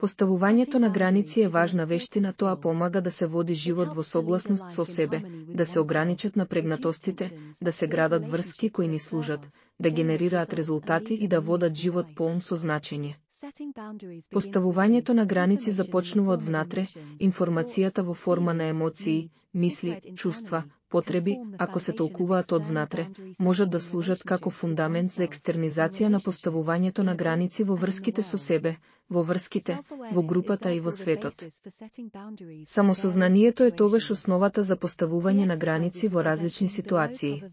Поставувањето на граници е важна вештина, тоа помага да се води живот во согласност со себе, да се ограничат напрегнатостите, да се градат врски кои ни служат, да генерираат резултати и да водат живот полн со значење. Поставувањето на граници започнува од внатре, информацијата во форма на емоции, мисли, чувства, потреби, ако се толкуваат од внатре, можат да служат како фундамент за екстернизација на поставувањето на граници во врските со себе, во врските, во групата и во светот. Самосознанието е тогаш основата за поставување на граници во различни ситуации.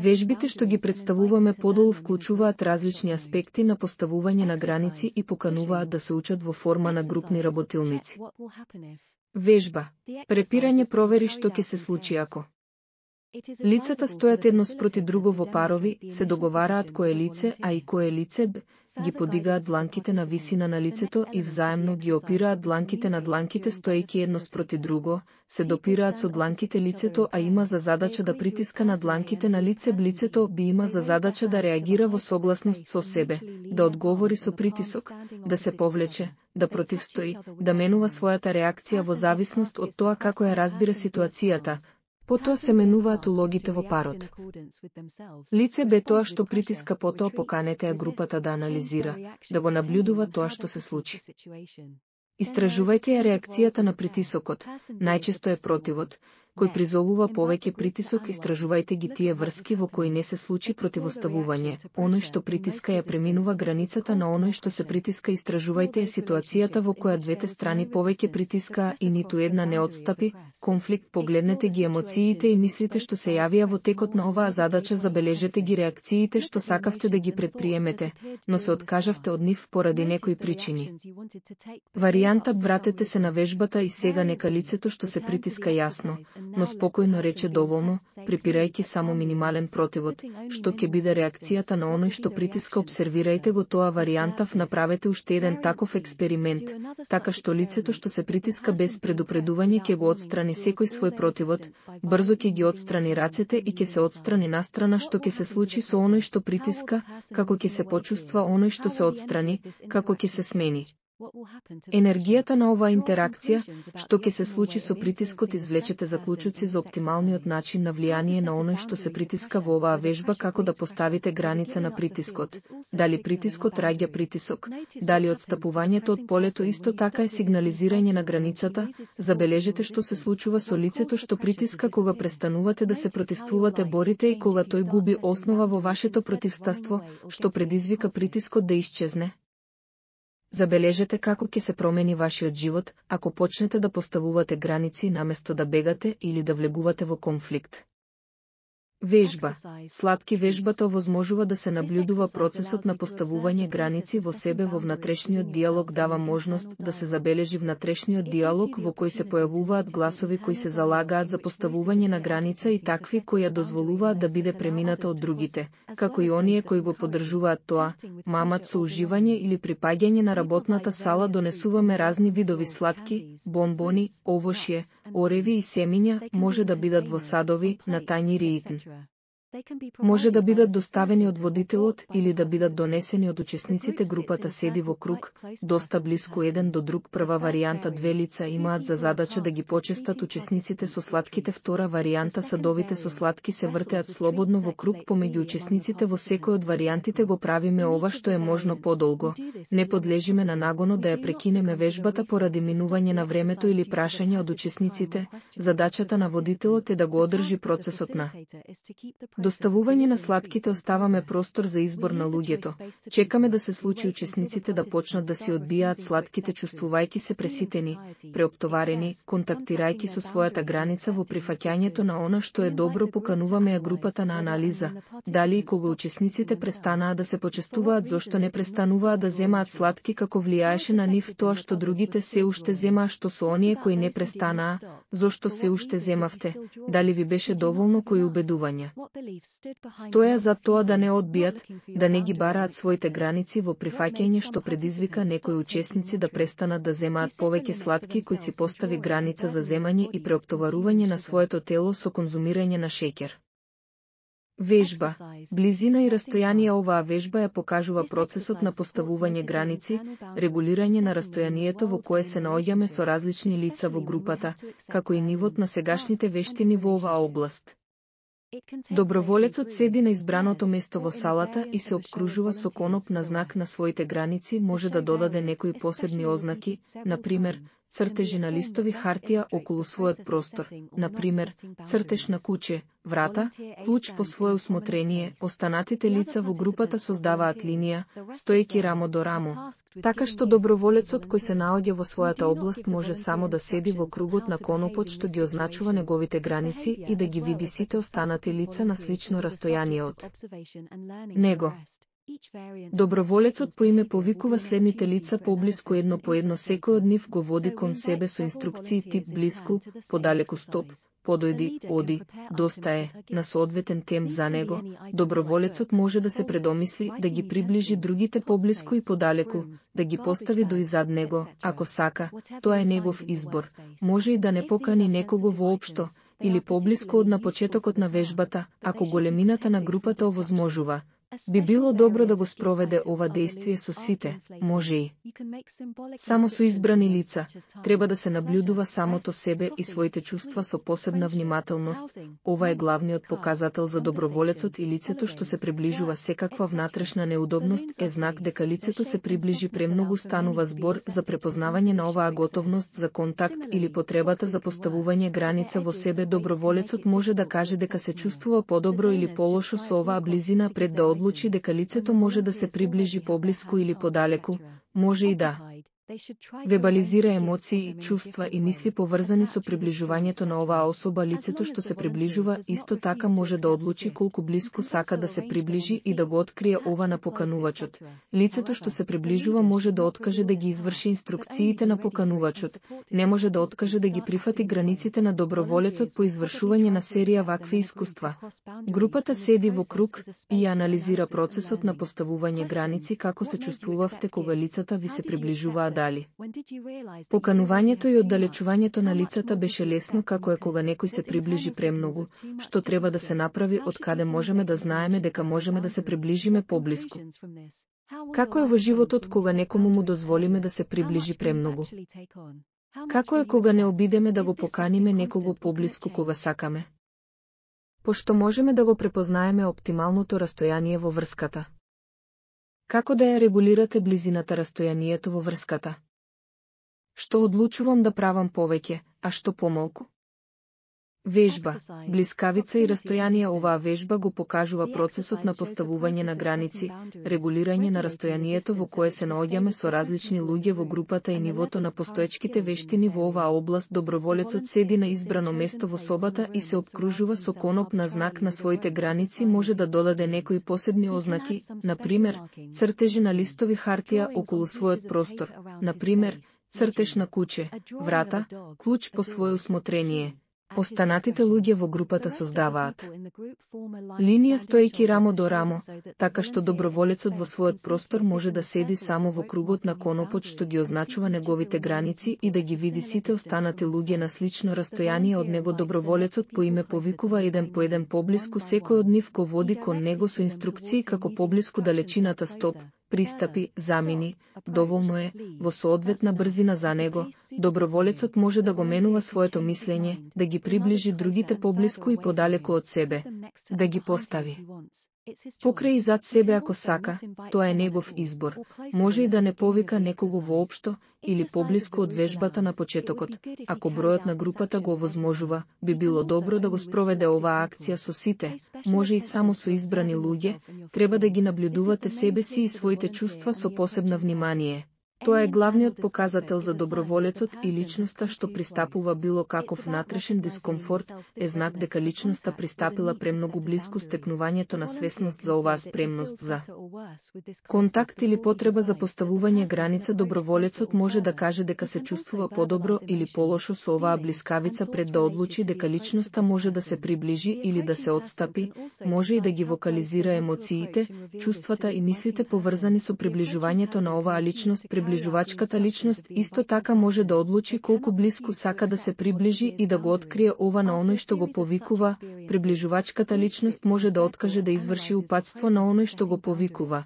Вежбите што ги представуваме подолу вклучуваат различни аспекти на поставување на граници и покануваат да се учат во форма на групни работилници. Вежба. Препирање провери што ќе се случи ако. Лицата стојат едно спроти друго во парови, се договараат кој е лице А и кој е лице Б, ги подигаат дланките на висина на лицето и взаемно ги опираат дланките на дланките стоејќи едно спроти друго, се допираат со дланките лицето А има за задача да притиска на дланките на лице Б, лицето Б има за задача да реагира во согласност со себе, да одговори со притисок, да се повлече, да противстои, да менува својата реакција во зависност од тоа како ја разбира ситуацијата. Потоа се менуваат улогите во парот. Лице Б тоа што притиска, потоа поканете ја групата да анализира, да го наблюдува тоа што се случи. Истражувајте ја реакцијата на притисокот, најчесто е противот, кој призовува повеќе притисок, истражувајте ги тие врски во кои не се случи противоставување, оној што притиска ја преминува границата на оној што се притиска, истражувајте ја ситуацијата во која двете страни повеќе притискаа и ниту една не отстапи, конфликт, погледнете ги емоциите и мислите што се јавија во текот на оваа задача, забележете ги реакциите што сакавте да ги предприемете, но се откажавте од нив поради некои причини. Варијанта: вратете се на вежбата и сега нека лицето што се притиска јасно, но спокојно рече доволно, припирајќи само минимален противод, што ќе биде реакцијата на оној што притиска. Обсервирајте го тоа варијантав, направете уште еден таков експеримент, така што лицето што се притиска без предупредување ќе го отстрани секој свој противод, брзо ќе ги отстрани рацете и ќе се отстрани настрана. Што ќе се случи со оној што притиска, како ќе се почувства оној што се отстрани, како ќе се смени енергијата на оваа интеракција, што ќе се случи со притискот. Извлечете заклучоци за оптималниот начин на влијание на оној што се притиска во оваа вежба, како да поставите граница на притискот. Дали притискот раѓа притисок, дали отстапувањето од полето исто така е сигнализирање на границата. Забележете што се случува со лицето што притиска кога престанувате да се противствувате, борите и кога тој губи основа во вашето противстаство, што предизвика притискот да исчезне. Забележете како ќе се промени вашиот живот, ако почнете да поставувате граници наместо да бегате или да влегувате во конфликт. Вежба. Сладки вежбата овозможува да се наблюдува процесот на поставување граници во себе. Во внатрешниот диалог дава можност да се забележи внатрешниот диалог во кој се појавуваат гласови кои се залагаат за поставување на граница и такви кои ја дозволуваат да биде премината од другите, како и оние кои го поддржуваат тоа. Мамат со уживање или припаѓање на работната сала донесуваме разни видови сладки, бонбони, овошје, ореви и семиња, може да бидат во садови, на тањири итн. Може да бидат доставени од водителот или да бидат донесени од учесниците. Групата седи во круг, доста блиску еден до друг. Прва варијанта: две лица имаат за задача да ги почестат учесниците со сладките. Втора варијанта: садовите со сладки се вртеат слободно во круг помеѓу учесниците. Во секој од варијантите го правиме ова што е можно подолго. Не подлежиме на нагонот да ја прекинеме вежбата поради минување на времето или прашање од учесниците. Задачата на водителот е да го одржи процесот на доставување на сладките. Оставаме простор за избор на луѓето. Чекаме да се случи учесниците да почнат да си одбијаат сладките, чувствувајќи се преситени, преоптоварени, контактирајќи со својата граница во прифаќањето на она што е добро. Покануваме ја групата на анализа. Дали и кога учесниците престанаа да се почестуваат, зошто не престануваат да земаат сладки, како влијаеше на нив тоа што другите се уште земаа, што со оние кои не престанаа, зошто се уште земавте, дали ви беше доволно, кои убедувања стоја за тоа да не одбијат, да не ги бараат своите граници во прифаќање, што предизвика некои учесници да престанат да земаат повеќе сладки, кои си постави граница за земање и преоптоварување на своето тело со конзумирање на шеќер. Вежба, близина и растојание. Оваа вежба ја покажува процесот на поставување граници, регулирање на растојанието во кое се наоѓаме со различни лица во групата, како и нивот на сегашните вештини во оваа област. Доброволецот седи на избраното место во салата и се обкружува со коноп на знак на своите граници. Може да додаде некои посебни ознаки, например, цртежи на листови хартија околу својот простор, например, цртеж на куче, врата, клуч по свое усмотрение. Останатите лица во групата создаваат линија, стоејќи рамо до рамо. Така што доброволецот кој се наоѓа во својата област може само да седи во кругот на конопот што ги означува неговите граници и да ги види сите останати лица на слично растојание од него. Доброволецот по име повикува следните лица поблиску едно по едно. Секој од нив го води кон себе со инструкции тип блиску, подалеку стоп, подојди, оди, доста е, на соодветен темп за него. Доброволецот може да се предомисли, да ги приближи другите поблиску и подалеку, да ги постави до изад него, ако сака, тоа е негов избор. Може и да не покани некого воопшто, или поблиску од на почетокот на вежбата, ако големината на групата овозможува. Би било добро да го спроведе ова дејствие со сите, може и само со избрани лица. Треба да се наблюдува самото себе и своите чувства со посебна внимателност. Ова е главниот показател за доброволецот и лицето што се приближува. Секаква внатрешна неудобност е знак дека лицето се приближи премногу. Станува збор за препознавање на оваа готовност за контакт или потребата за поставување граница во себе. Доброволецот може да каже дека се чувствува подобро или полошо со оваа близина пред да одлучи дека лицето може да се приближи поблиску или подалеку. Може и да вебализира емоции, чувства и мисли поврзани со приближувањето на оваа особа. Лицето што се приближува исто така може да одлучи колку блиску сака да се приближи и да го открие ова на поканувачот. Лицето што се приближува може да откаже да ги изврши инструкциите на поканувачот. Не може да откаже да ги прифати границите на доброволецот по извршување на серија вакви искуства. Групата седи во круг и ја анализира процесот на поставување граници. Како се чувствувавте кога лицата ви се приближуваат? Дали поканувањето и оддалечувањето на лицата беше лесно? Како е кога некој се приближи премногу? Што треба да се направи? Од каде можеме да знаеме дека можеме да се приближиме поблиску? Како е во животот кога некому му дозволиме да се приближи премногу? Како е кога не обидеме да го поканиме некого поблиску кога сакаме? Пошто можеме да го препознаеме оптималното растојание во врската. Како да ја регулирате близината, растојанието во врската? Што одлучувам да правам повеќе, а што помалку? Вежба, блискавица и растојание. Оваа вежба го покажува процесот на поставување на граници, регулирање на растојанието во кое се наоѓаме со различни луѓе во групата и нивото на постоечките вештини во оваа област. Доброволецот седи на избрано место во собата и се обкружува со коноп на знак на своите граници. Може да додаде некои посебни ознаки, например, цртежи на листови хартија околу својот простор, например, цртеж на куче, врата, клуч по свое усмотрение. Останатите луѓе во групата создаваат линија стоејќи рамо до рамо, така што доброволецот во својот простор може да седи само во кругот на конопот што ги означува неговите граници и да ги види сите останати луѓе на слично растојание од него. Доброволецот по име повикува еден по еден поблиску. Секој од нив го води кон него со инструкции како поблиску далечината стоп, пристапи, замини, доволно е, во соодветна брзина за него. Доброволецот може да го менува своето мислење, да ги приближи другите поблиску и подалеку од себе, да ги постави покрај и зад себе ако сака. Тоа е негов избор. Може и да не повика некого воопшто или поблиску од вежбата на почетокот. Ако бројот на групата го овозможува, би било добро да го спроведе оваа акција со сите. Може и само со избрани луѓе. Треба да ги наблюдувате себе си и своите чувства со посебна внимание. Тоа е главниот показател за доброволецот и личноста што пристапува било каков внатрешен дискомфорт, е знак дека личноста пристапила премногу блиску. Стекнувањето на свесност за оваа спремност за контакт или потреба за поставување граница. Доброволецот може да каже дека се чувствува подобро или полошо со оваа блискавица пред да одлучи дека личноста може да се приближи или да се отстапи. Може и да ги вокализира емоциите, чувствата и мислите поврзани со приближувањето на оваа личност. приближувачката личност исто така може да одлучи колку блиску сака да се приближи и да го открие ова на оној што го повикува. Приближувачката личност може да откаже да изврши упатство на оној што го повикува.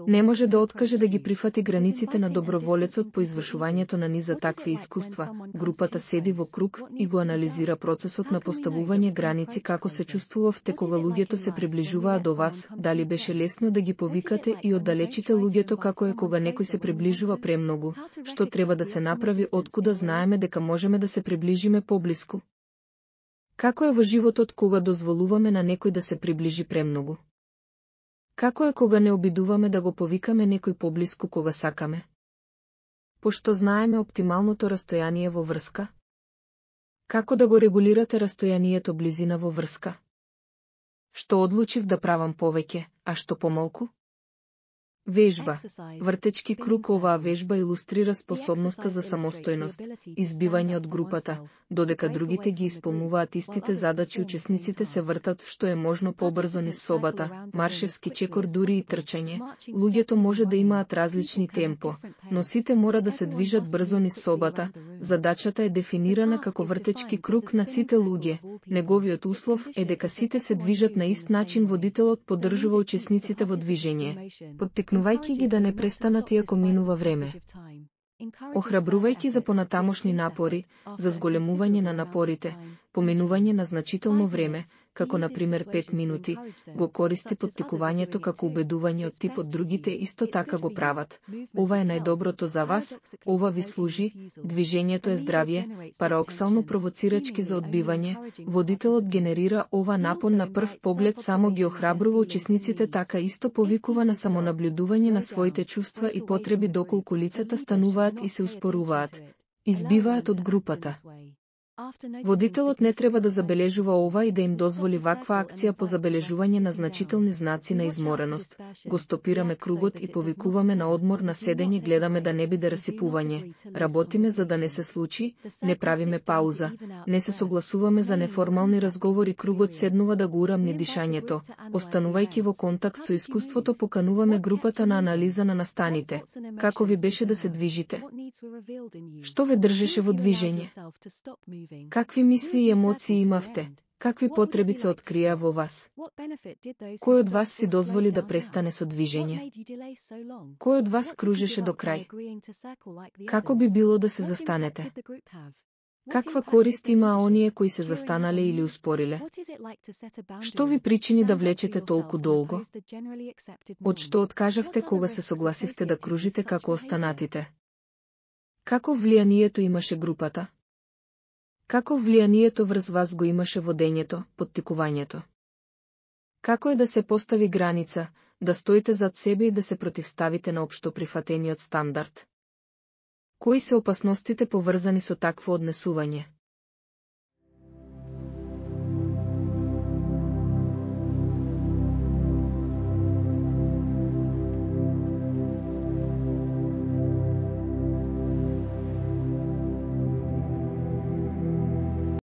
Не може да откаже да ги прифати границите на доброволецот по извршувањето на низ за такви искуства. Групата седи во круг и го анализира процесот на поставување граници, како се чувствувавте кога луѓето се приближуваа до вас, дали беше лесно да ги повикате и оддалечите луѓето, како е кога некој се приближува премногу, што треба да се направи, откуда знаеме дека можеме да се приближиме поблиску. Како е во животот кога дозволуваме на некој да се приближи премногу? Како е кога не обидуваме да го повикаме некој поблиску кога сакаме? Пошто знаеме оптималното растојание во врска? Како да го регулирате растојанието близина во врска? Што одлучив да правам повеќе, а што помалку? Вежба. Вртечки круг. Оваа вежба илустрира способноста за самостојност, избивање од групата, додека другите ги исполнуваат истите задачи, учесниците се вртат што е можно побрзо низ собата, маршевски чекор, дури и трчање. Луѓето може да имаат различни темпо, но сите мора да се движат брзо низ собата. Задачата е дефинирана како вртечки круг на сите луѓе. Неговиот услов е дека сите се движат на ист начин. Водителот поддржува учесниците во движење, поттикнувајќи ги да не престанат иако минува време. Охрабрувајќи за понатамошни напори, за зголемување на напорите, поминување на значително време, како на пример 5 минути, го користи поттикувањето како убедување од типот другите исто така го прават. Ова е најдоброто за вас, ова ви служи, движењето е здравје, параоксално провоцирачки за одбивање. Водителот генерира ова напон на прв поглед, само ги охрабрува учесниците, така исто повикува на самонаблюдување на своите чувства и потреби доколку лицата стануваат и се успоруваат, избиваат од групата. Водителот не треба да забележува ова и да им дозволи ваква акција по забележување на значителни знаци на измореност. Го стопираме кругот и повикуваме на одмор, на седење, гледаме да не биде расипување. Работиме за да не се случи, не правиме пауза, не се согласуваме за неформални разговори, кругот седнува да го урамни дишањето. Останувајќи во контакт со искуството, покануваме групата на анализа на настаните. Како ви беше да се движите? Што ве држеше во движење? Какви мисли и емоции имавте? Какви потреби се открија во вас? Кој од вас си дозволи да престане со движење? Кој од вас кружеше до крај? Како би било да се застанете? Каква корист има оние кои се застанале или успориле? Што ви причини да влечете толку долго? Од што откажавте кога се согласивте да кружите како останатите? Како влијанието имаше групата? Како влијанието врз вас го имаше водењето, поттикувањето? Како е да се постави граница, да стоите зад себе и да се противставите на општо прифатениот стандард? Кои се опасностите поврзани со такво однесување?